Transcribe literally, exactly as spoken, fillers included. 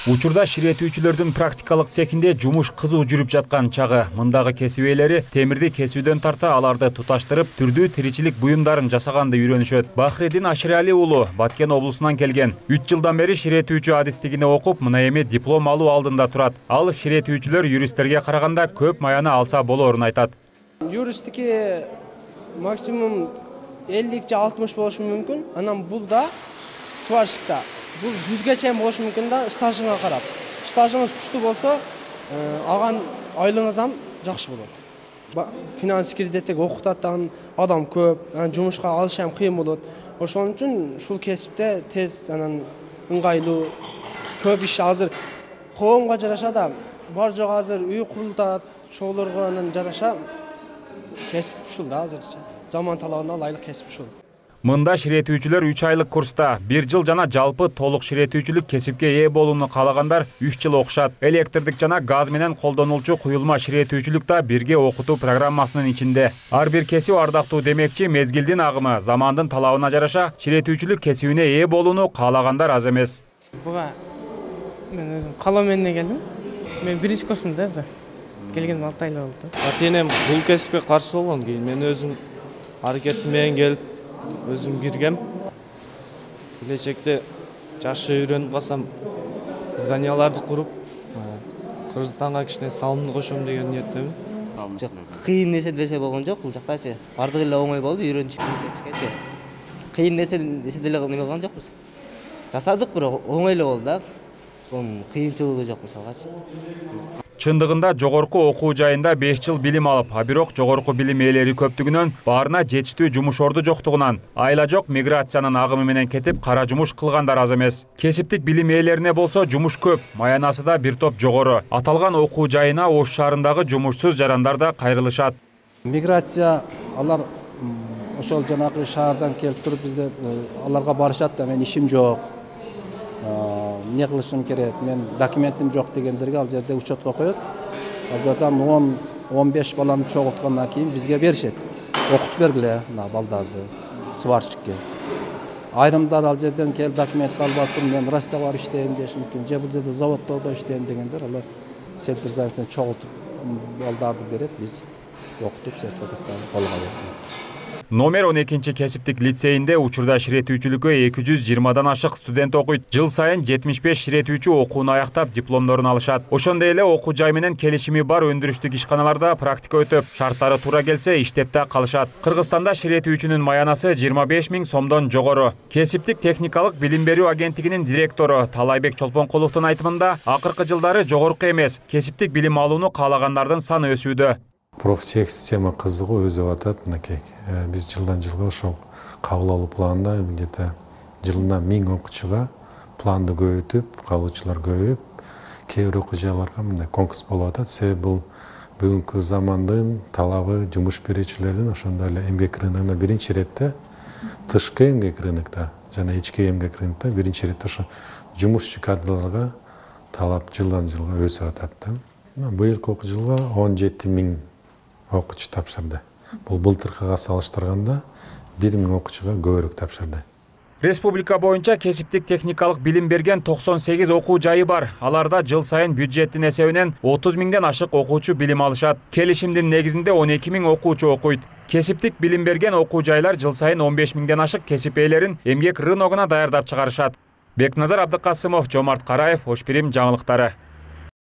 Учурда ширетүүчүлөрдүн практикалык цехинде жумуш кызуу жүрүп жаткан чагы. Мындагы кесип ээлери темирди кесүүдөн тарта аларды туташтырып, түрдүү тиричилик буюмдарын жасаганды үйрөнүшөт. Бахредин Аширали уулу Баткен облусунан келген. үч жылдан бери ширетүүчү адистигине окуп, мына эми диплом алуу алдында турат. Ал ширетүүчүлөр юристтерге караганда көп маяны алса болоорун айтат. Юристтики максимум элүү же алтымыш болушу мүмкүн. Анан бул да сварщикта бул жүзгө чейин болушу мүмкүн да, стажыңа карап. Стажыңыз күчтүү болсо, алган айлыгыңыз ham жакшы болот. Финанс кредиттеги окутат, адам көп, жумушка алыш ham кыйын болот. Ошон үчүн ушул кесипте тез анан ыңгайлуу көп иш азыр коомго жараша да бар жок азыр үй курултат, ошолорго анан жараша кесип ушул да азырча. Заман талабына ылайык кесип ушул. Мында ширетүүчүлөр үч айлык курста, бир жыл жана жалпы толук ширетүүчүлүк кесипке ээ болууну каалагандар үч жыл окушат. Электрдик жана газ менен колдонулчу куюлма ширетүүчүлүк да бирге окутуу программасынын ичинде. Ар бир кесип ардактуу демекчи, мезгилдин агымы, замандын талабына жараша ширетүүчүлүк кесибине ээ болууну каалагандар аз эмес. Буга мен өзүм калоо менен келдим. Мен биринчи курсумун да азыр. Келгениме алты ай болду. Ата-энем бул кесипке каршы болгон, кийин мен өзүм аракетим менен келип өзүм киргем. Келечекте жакшы үйрөнүп калсам, зданияларды куруп, Кыргызстанга кичине салымды кошом деген ниеттемин. Жок, кыйын нерсе десе болгон жок бул жактачы. Бардыгы эле оңой болду, үйрөнүшүп кетишкечи. Кыйын нерсе десе деле неме болгон жокпуз. Жасадык, бирок оңой эле болду да. Бун кыйынчылыгы жок мисалгачы. Чындыгында жогорку окуу жайында беш жыл билим алып, а бирок жогорку билим ээлери көптүгүнөн, баарына жетиштүү жумуш орду жоктугунан, айла жок миграциянын агымы менен кетип, кара жумуш кылгандар аз эмес. Кесиптик билим ээлерине болсо жумуш көп, маянасы да бир топ жогору. Аталган окуу жайына Ош шаарындагы жумушсуз жарандар да кайрылышат. Миграция алар ошол жанагы шаардан келип туруп бизде аларга барышат да, мен ишим жок. Не кылышым керек, мен документим жок дегендерге ал жерде учетко коет. Ал жерден он он беш баланы чогулткандан кийин бизге беришет. Окутуп бергиле мына балдарды сварщикке. Айрымдар ал жерден келип документ алып атып, мен Россияга барып иштейм деши мүмкүн. Же бул жерде заводдордо иштейм дегендер, алар центр занятосине чогултуп балдарды берет, биз окутуп сертификаттарды колго алабыз. Номер он экинчи кесиптик лицейинде учурда ширетүүчүлүккө эки жүз жыйырмадан ашык студент окуйт. Жыл сайын жетимиш беш ширетүүчү окууну аяктап дипломдорун алышат. Ошондой эле окуу жай менен келишими бар өндүрүштүк ишканаларда практика өтөп, шарттары туура келсе иштеп да калышат. Кыргызстанда ширетүүчүнүн маянасы жыйырма беш миң сомдон жогору. Кесиптик техникалык билим берүү агенттигинин директору Талайбек Чолпонкуловдун айтымында, акыркы жылдары жогорку эмес, кесиптик билим алууну каалагандардын саны өсүүдө. Профтех система кызыгуу өзүп атат мынакей. Биз жылдан жылга ошол кабыл алуу планында где-то жылына миң окуучуга планды көбөйтүп, кабылуучулар көбөйүп, кээ бир окуу жайларга мындай конкурс болуп атат. Себеби бул бүгүнкү замандын талабы, жумуш берүүчүлөрдүн ошондой эле эмгек рыногуна биринчи ирет тышкы эмгек рынокто жана ички эмгек рынокто биринчи ирет ошо жумушчу кадрларга талап жылдан жылга өсүп атат да. Быйылкы окуу жылга он жети миң окуучу тапшырды. Бул былтыркыга салыштырганда бир миң окуучуга көбүрөөк тапшырды. Республика боюнча кесиптик техникалык билим берген токсон сегиз окуу жайы бар. Аларда жыл сайын бюджеттин эсебинен отуз миңден ашык окуучу билим алышат. Келишимдин негизинде он эки миң окуучу окуйт. Кесиптик билим берген окуу жайлар жыл сайын он беш миңден ашык кесип ээлерин эмгек рыногуна даярдап чыгарышат. Бекназар Абдыкасымов, Жомарт Караев, Ош Пирим жаңылыктары.